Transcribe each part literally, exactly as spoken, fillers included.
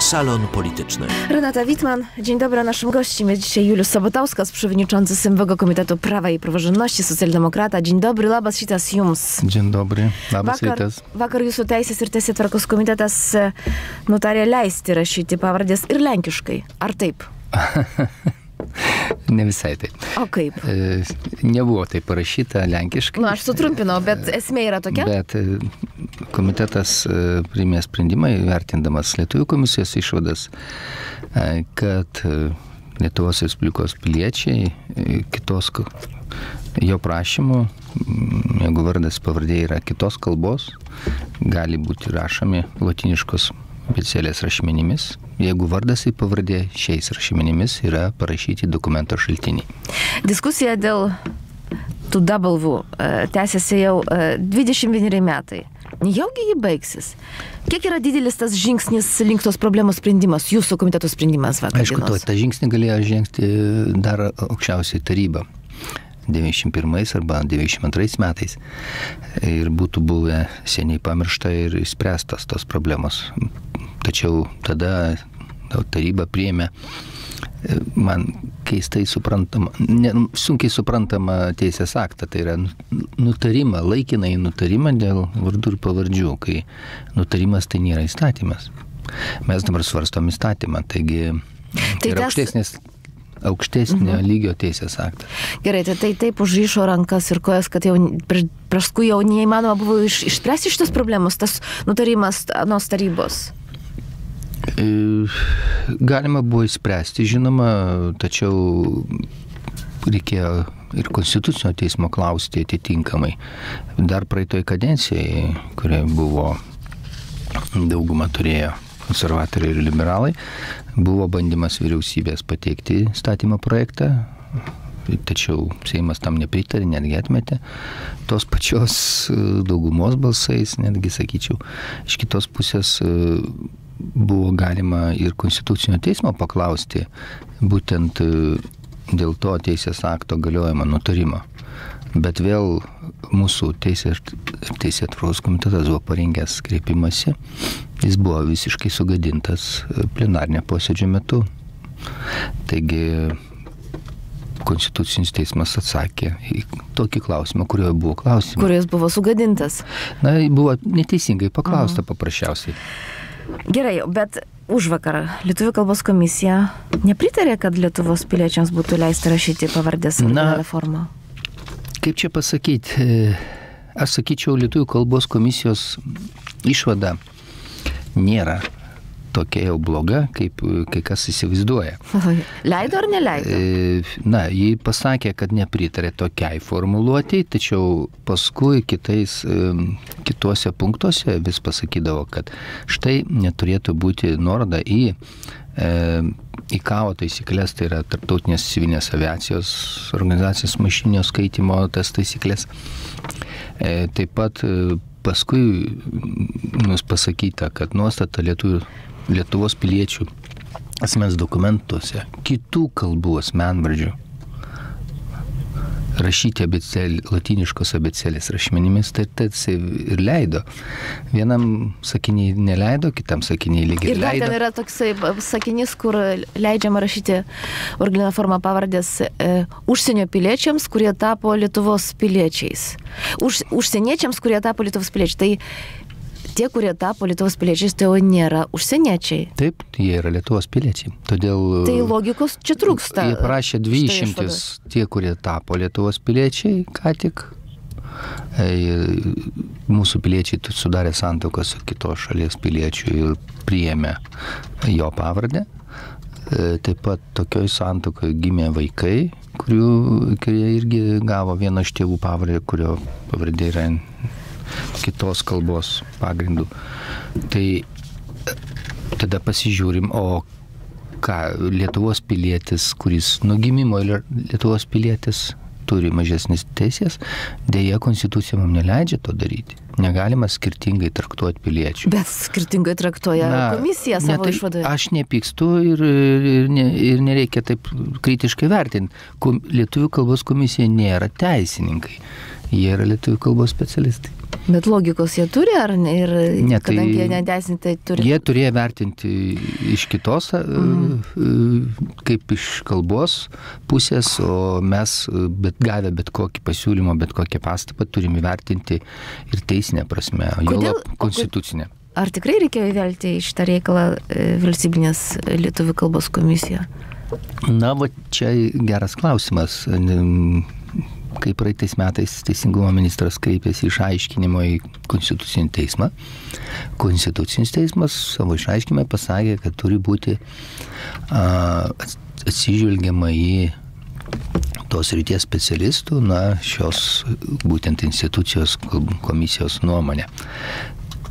Salon Polityczny. Renata Wittmann, dzień dobry. Naszym gościem jest dzisiaj Julius Sabatauskas, przewodniczący Sejmowego Komitetu Prawa i Praworządności, socjaldemokrata. Dzień dobry, labas rytas jums. Dzień dobry, labas vakar, rytas. Vakar jūsų Teisės ir Teisėtvarkos komitetas nutarė leisti rašyti pavardės ir lenkiškai. Ar taip? Ne visai taip. O kaip? E, nebuvo taip parašyta lenkiškai. Na, aš sutrumpinau, bet esmė yra tokia? Bet komitetas priėmė sprendimą, vertindamas Lietuvių komisijos išvadas, kad Lietuvos Respublikos piliečiai kitos jo prašymų, jeigu vardas pavardė yra kitos kalbos, gali būti rašomi lotiniškos abėcėlės rašmenimis, jeigu vardas ir pavardė šiais rašmenimis yra parašyti dokumento šaltiniai. Diskusija dėl tų W tęsiasi jau dvidešimt vieneri metai. Nejaugi jį baigsis. Kiek yra didelis tas žingsnis link tos problemos sprendimas, jūsų komiteto sprendimas vakar dienos? Aišku, to, tą žingsnį galėjo žengti dar aukščiausiai taryba devyniasdešimt pirmais arba devyniasdešimt antrais metais ir būtų buvę seniai pamiršta ir išspręstas tos problemos. Tačiau tada taryba priėmė man keistai suprantama, ne, sunkiai suprantama teisės aktą, tai yra nutarimą, laikinai nutarimą dėl vardų ir pavardžių, kai nutarimas tai nėra įstatymas. Mes dabar svarstom įstatymą, taigi tai yra aukštesnis aukštesnio mhm. lygio teisės aktas. Gerai, tai, tai taip užryšo rankas ir kojas, kad jau paskui jau neįmanoma buvo iš, išspręsti šitos problemos, tas nutarimas anos tarybos. Galima buvo įspręsti, žinoma, tačiau reikėjo ir konstitucinio teismo klausti atitinkamai. Dar praeitoj kadencijai, kurie buvo daugumą turėjo konservatoriai ir liberalai, buvo bandymas vyriausybės pateikti statymo projektą, tačiau Seimas tam nepritarė, netgi atmetė tos pačios daugumos balsais, netgi sakyčiau. Iš kitos pusės buvo galima ir konstitucinio teismo paklausti būtent dėl to teisės akto galiojimo nutarimo. Bet vėl mūsų Teisėtvarkos komitetas buvo parengęs kreipimąsi. Jis buvo visiškai sugadintas plenarnio posėdžio metu. Taigi Konstitucinis teismas atsakė į tokį klausimą, kurioje buvo klausimas. Kuris buvo sugadintas? Na, buvo neteisingai paklausta Aha. paprasčiausiai. Gerai, bet užvakar Lietuvių kalbos komisija nepritarė, kad Lietuvos piliečiams būtų leista rašyti pavardės originalią formą? Kaip čia pasakyti, aš sakyčiau, Lietuvių kalbos komisijos išvada nėra tokia jau bloga, kaip kai kas įsivaizduoja. Leido ar neleido? Na, jį pasakė, kad nepritarė tokiai formuluotėjai, tačiau paskui kitais, kituose punktuose vis pasakydavo, kad štai neturėtų būti nuoroda į I C A O taisyklės, tai yra Tarptautinės civilinės aviacijos organizacijos mašininio skaitymo tas taisyklės. Taip pat paskui mums pasakyta, kad nuostata Lietuvių, Lietuvos piliečių asmens dokumentuose kitų kalbų asmenvardžių rašyti abėcėlį, latiniškos abėcėlės rašmenimis, tai tarsi ir leido. Vienam sakiniai neleido, kitam sakiniai lygiai leido. Ir dar ten yra toksai sakinys, kur leidžiama rašyti originalią formą pavardės e, užsienio piliečiams, kurie tapo Lietuvos piliečiais. Už, užsieniečiams, kurie tapo Lietuvos piliečiais. Tai tie, kurie tapo Lietuvos piliečiais, tai jau nėra užsieniečiai. Taip, jie yra Lietuvos piliečiai. Todėl tai logikos čia trūksta. Jie prašė dvi išimtis, tie, kurie tapo Lietuvos piliečiai, ką tik. E, mūsų piliečiai sudarė santuoką su kitos šalies piliečių ir priėmė jo pavardę. E, taip pat tokioj santuokoje gimė vaikai, kurių, kurie irgi gavo vieną iš tėvų pavardę, kurio pavardė yra kitos kalbos pagrindų. Tai tada pasižiūrim, o ką Lietuvos pilietis, kuris nuo gimimo Lietuvos pilietis turi mažesnis teisės, dėja konstitucija mums neleidžia to daryti. Negalima skirtingai traktuoti piliečių. Bet skirtingai traktuoja Na, komisija savo tai, išvadoje. Aš nepykstu ir, ir, ne, ir nereikia taip kritiškai vertinti. Lietuvių kalbos komisija nėra teisininkai. Jie yra lietuvių kalbos specialistai. Bet logikos jie turi, ar ne? Ir ne, kadangi tai jie neteisintai turi. Jie turėjo vertinti iš kitos, mhm. kaip iš kalbos pusės, o mes bet gavę bet kokį pasiūlymą, bet kokią pastabą turime vertinti ir teisinę prasme, jo konstitucinę. Ar tikrai reikėjo įvelti į šitą reikalą valstybinės lietuvių kalbos komisiją? Na, va čia geras klausimas. Kai praeitais metais Teisingumo ministras kreipėsi išaiškinimo į Konstitucinį teismą, Konstitucinis teismas savo išaiškinimą pasakė, kad turi būti a, atsižvelgiama į tos ryties specialistų, na, šios būtent institucijos komisijos nuomonę.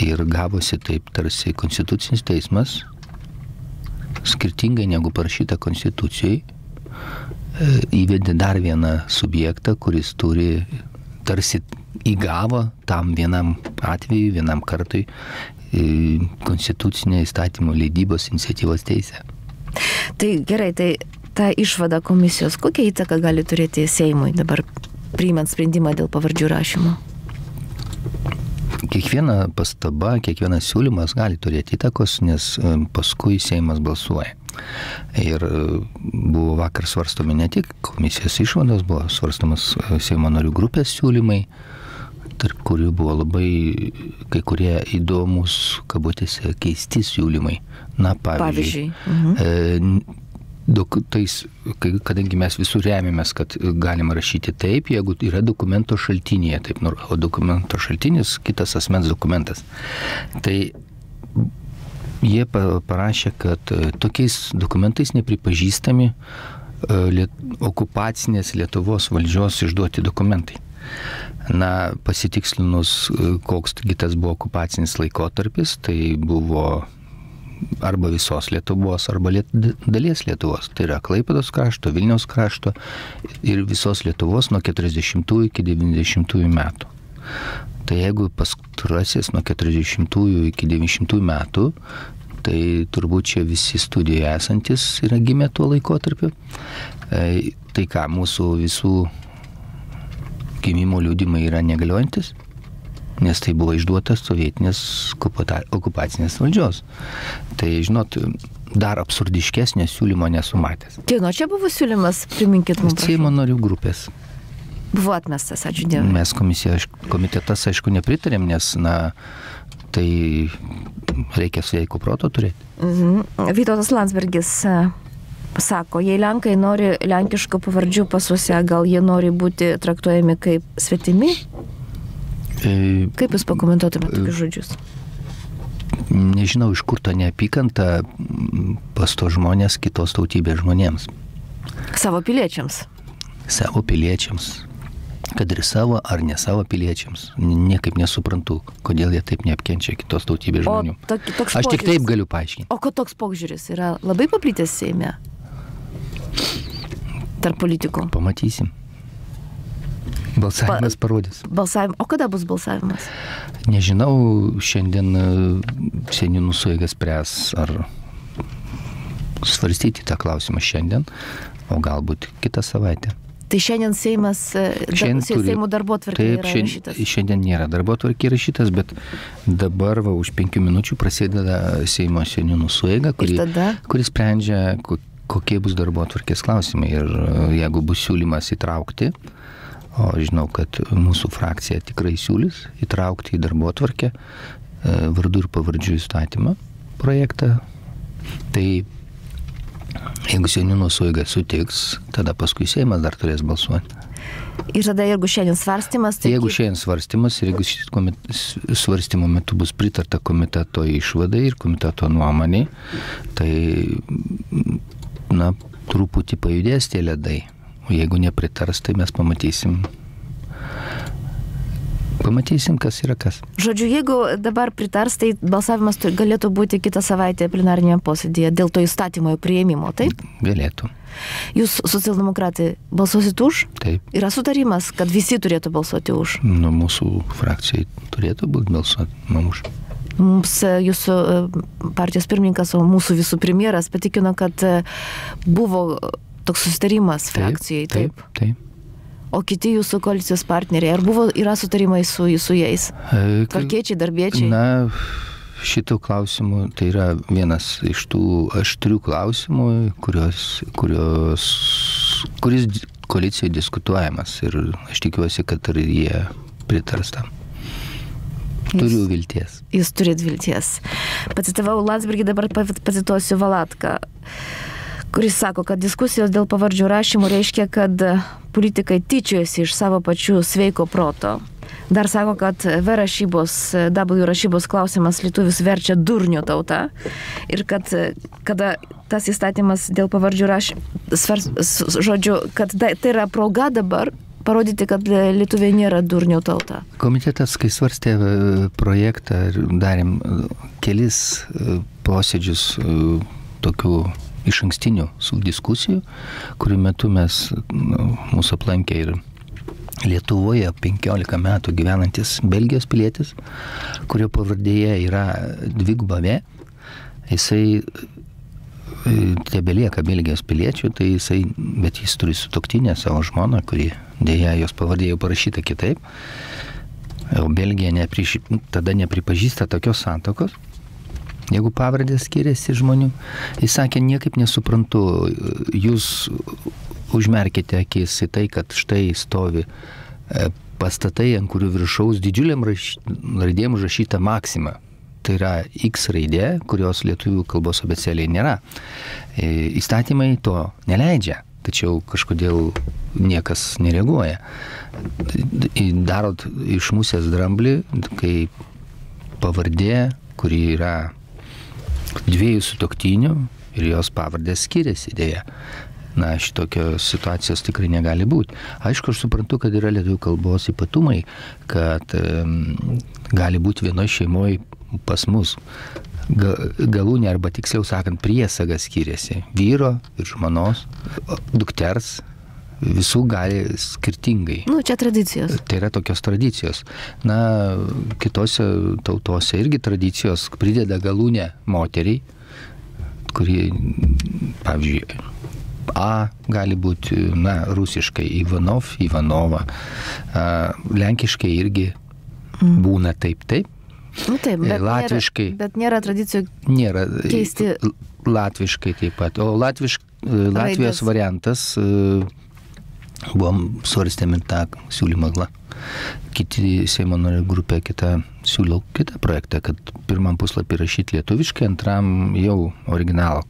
Ir gavosi taip, tarsi Konstitucinis teismas, skirtingai negu parašyta Konstitucijai, įvedė dar vieną subjektą, kuris turi, tarsi įgavo tam vienam atveju, vienam kartui konstitucinę įstatymo leidybos iniciatyvos teisę. Tai gerai, tai ta išvada komisijos, kokią įtaką gali turėti Seimui dabar priimant sprendimą dėl pavardžių rašymo? Kiekviena pastaba, kiekvienas siūlymas gali turėti įtakos, nes paskui Seimas balsuoja. Ir buvo vakar svarstomi ne tik komisijos išvados, buvo svarstomas Seimo narių grupės siūlymai, tarp kurių buvo labai kai kurie įdomus, kabutėse, keisti siūlymai. Na, pavyzdžiui, pavyzdžiui. Mhm. Dok, tais, kadangi mes visur remiamės, kad galima rašyti taip, jeigu yra dokumento šaltinėje, taip, o dokumento šaltinis kitas asmens dokumentas. Tai jie parašė, kad tokiais dokumentais nepripažįstami liet, okupacinės Lietuvos valdžios išduoti dokumentai. Na, pasitikslinus, koks kitas buvo okupacinis laikotarpis, tai buvo arba visos Lietuvos, arba liet, dalies Lietuvos. Tai yra Klaipėdos krašto, Vilniaus krašto ir visos Lietuvos nuo keturiasdešimtųjų iki devyniasdešimtųjų metų. Tai jeigu pastarasis nuo keturiasdešimtųjų iki devyniasdešimtųjų metų, tai turbūt čia visi studijoje esantis yra gimę tuo laikotarpiu. E, tai ką, mūsų visų gimimo liudimai yra negaliojantis, nes tai buvo išduotas sovietinės okupacinės valdžios. Tai, žinot, dar absurdiškesnio siūlymo nesu matęs. Kieno čia buvo siūlymas, priminkit mums. Seimo narių grupės. Buvo atmestas, ačiū Dievui. Mes komisija, komitetas, aišku, nepritarėm, nes, na, tai reikia sveiko proto turėti. Mhm. Vytautas Landsbergis sako, jei Lenkai nori lenkiškų pavardžių pasuose, gal jie nori būti traktuojami kaip svetimi? E, kaip jūs pakomentuotumėte tokius žodžius? Nežinau, iš kur ta neapykanta pas to žmonės kitos tautybės žmonėms. Savo piliečiams? Savo piliečiams. Kad ir savo ar ne savo piliečiams. Niekaip nesuprantu, kodėl jie taip neapkenčia kitos tautybės žmonių. O tok, toks Aš tik požiūris, taip galiu paaiškinti. O ko toks požiūris yra labai paplitęs Seime? Tarp politikų? Pamatysim. Balsavimas pa, parodys. Balsavim, o kada bus balsavimas? Nežinau, šiandien seniūnų sueiga spręs, ar svarstyti tą klausimą šiandien, o galbūt kitą savaitę. Tai šiandien Seimas, šiandien turi, Seimo darbotvarkė yra rašytas? Taip, šiandien nėra darbotvarkė rašytas, bet dabar va, už penkių minučių prasideda Seimo seniūnų sueiga, kuri, kuri sprendžia, kokie bus darbotvarkės klausimai. Ir jeigu bus siūlymas įtraukti, o žinau, kad mūsų frakcija tikrai siūlys įtraukti į darbotvarkę vardų ir pavardžių įstatymą projektą, tai jeigu seniūnų sueiga sutiks, tada paskui Seimas dar turės balsuoti. Ir tada jeigu šiandien svarstymas, tai... Jeigu šiandien svarstymas ir jeigu šit svarstymo metu bus pritarta komiteto išvadai ir komiteto nuomonė, tai, na, truputį pajudės tie ledai. O jeigu nepritars, tai mes pamatysim, pamatysim, kas yra kas. Žodžiu, jeigu dabar pritars, tai balsavimas galėtų būti kitą savaitę plenarinėje posėdėje dėl to įstatymo priėmimo, taip? Galėtų. Jūs, socialdemokratai, balsuosit už? Taip. Yra sutarimas, kad visi turėtų balsuoti už? Nu, mūsų frakcijai turėtų būti balsuoti už. Mums jūsų partijos pirmininkas, o mūsų visų premjeras patikino, kad buvo toks susitarimas frakcijai, taip? Taip, taip. O kiti jūsų koalicijos partneriai, ar buvo, yra sutarimai su, su jais? Tvarkiečiai, darbiečiai? Na, šitų klausimų, tai yra vienas iš tų aštrių klausimų, kurios, kurios, kuris koalicijoje diskutuojamas ir aš tikiuosi, kad ir jie pritars tam. Turiu vilties. Jūs turit vilties. Pacitavau Landsbergį, dabar pacituosiu Valatką, kuris sako, kad diskusijos dėl pavardžių rašymų reiškia, kad politikai tyčiojasi iš savo pačių sveiko proto. Dar sako, kad V rašybos, W rašybos klausimas lietuvius verčia durnių tauta ir kad kada tas įstatymas dėl pavardžių rašymų, žodžiu, kad tai yra proga dabar parodyti, kad lietuviai nėra durnių tauta. Komitetas, kai svarstė projektą, darėm kelis posėdžius tokių iš ankstinių diskusijų, kurių metu mes, nu, mūsų aplankė ir Lietuvoje penkiolika metų gyvenantis Belgijos pilietis, kurio pavardėje yra dviguba V, jisai tebelieka Belgijos piliečių, tai jisai, bet jis turi sutuoktinę savo žmoną, kuri dėja jos pavardė jau parašyta kitaip, o Belgija nepriš, tada nepripažįsta tokios santokos, jeigu pavardės skiriasi žmonių. Jis sakė, niekaip nesuprantu, jūs užmerkite akis į tai, kad štai stovi pastatai, ant kurių viršaus didžiuliam raš... raidėm užrašyta Maxima. Tai yra X raidė, kurios lietuvių kalbos abėcėlėje nėra. Įstatymai to neleidžia, tačiau kažkodėl niekas nereaguoja. Darot iš musės dramblį, kai pavardė, kuri yra dviejų sutuoktinių ir jos pavardės skiriasi dėja. Na, šitokios situacijos tikrai negali būti. Aišku, aš suprantu, kad yra lietuvių kalbos ypatumai, kad um, gali būti vienoje šeimoje pas mus galūnė, arba tiksliau sakant, priesaga skiriasi. Vyro ir žmonos, dukters, visų gali skirtingai. Nu, čia tradicijos. Tai yra tokios tradicijos. Na, kitose tautose irgi tradicijos prideda galūnę moteriai, kuri, pavyzdžiui, A gali būti, na, rusiškai Ivanov, Ivanova, a, lenkiškai irgi mm. būna taip, taip. Nu taip, bet, latviškai, nėra, bet nėra tradicijų nėra, keisti. Latviškai taip pat. O latvišk, Latvijos variantas buvom svarstėm ir tą siūlymą. Kiti Seimo narių grupė kitą siūlo kitą projektą, kad pirmam puslapį rašyti lietuviškai, antram jau originalą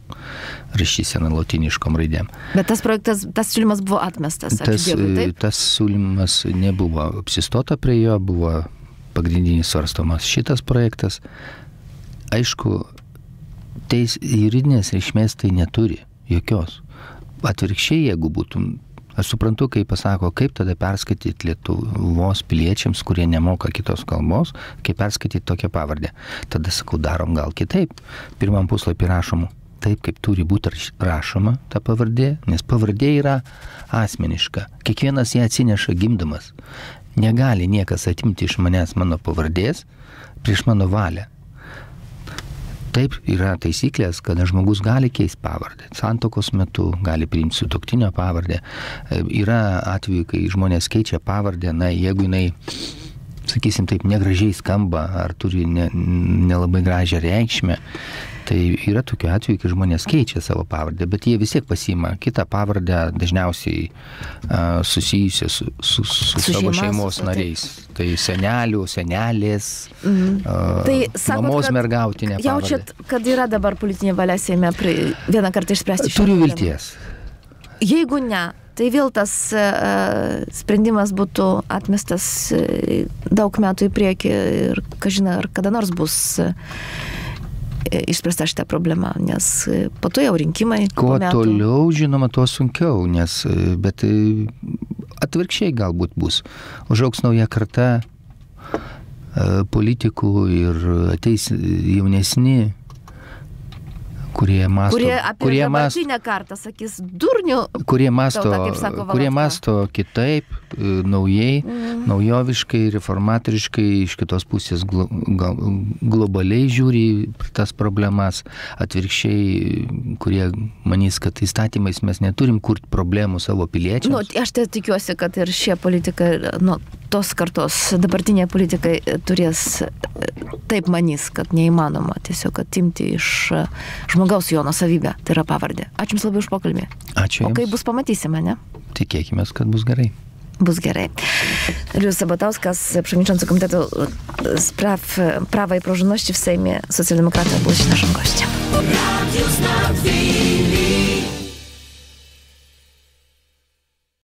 rašysena lotiniškom raidėm. Bet tas projektas, tas siūlymas buvo atmestas. Tas, Dėkui, tas siūlymas nebuvo apsistota prie jo, buvo pagrindinis svarstomas šitas projektas. Aišku, teis juridinės reikšmės tai neturi jokios. Atvirkščiai, jeigu būtum, aš suprantu, kai pasako, kaip tada perskaityti Lietuvos piliečiams, kurie nemoka kitos kalbos, kaip perskaityti tokią pavardę. Tada sakau, darom gal kitaip. Pirmam puslapį rašom taip, kaip turi būti rašoma ta pavardė, nes pavardė yra asmeniška. Kiekvienas ją atsineša gimdamas. Negali niekas atimti iš manęs mano pavardės prieš mano valią. Taip yra taisyklės, kada žmogus gali keisti pavardę. Santokos metu gali priimti sutuoktinio pavardę. Yra atveju, kai žmonės keičia pavardę, na, jeigu jinai, sakysim taip, negražiai skamba ar turi ne, nelabai gražią reikšmę, tai yra tokiu atveju, kai žmonės keičia savo pavardę, bet jie vis tiek pasiima kitą pavardę, dažniausiai uh, susijusią su, su, su, su savo šeimos su, nariais. Taip. Tai senelių, senelės, mm. uh, tai, sakot, mamos mergautinė pavardę. Jaučiat, kad yra dabar politinė valia Seime vieną kartą išspręsti šią Turiu vilties. Jeigu ne, tai vėl tas uh, sprendimas būtų atmestas uh, daug metų į priekį ir, kažina, ar kada nors bus uh, išspręsta šitą problemą, nes po to jau rinkimai. Kuo toliau, žinoma, tuo sunkiau, nes, bet atvirkščiai galbūt bus. Užaugs nauja karta politikų ir ateis jaunesni, kurie masto, kurie apie kurie dabartinę kartą sakys durnių, kurie masto, tauta, kaip sako kurie Valatka. masto kitaip, naujai, mm. naujoviškai, reformatoriškai, iš kitos pusės glo, gal, globaliai žiūri tas problemas, atvirkščiai, kurie manys, kad įstatymais mes neturim kurti problemų savo piliečiams. Nu, aš tai tikiuosi, kad ir šie politikai, nu, tos kartos dabartiniai politikai turės taip manys, kad neįmanoma tiesiog atimti iš žmogaus jo nuosavybę, tai yra pavardė. Ačiū Jums labai už pokalbį. Ačiū Jums. O kaip bus, pamatysime, ne? Tikėkime, kad bus gerai. Bus gerai. Juliusz Sabatauskas, przewodniczący Komitetu Spraw Prawa i Praworządności w Sejmie Socjaldemokrata, był naszym gościem.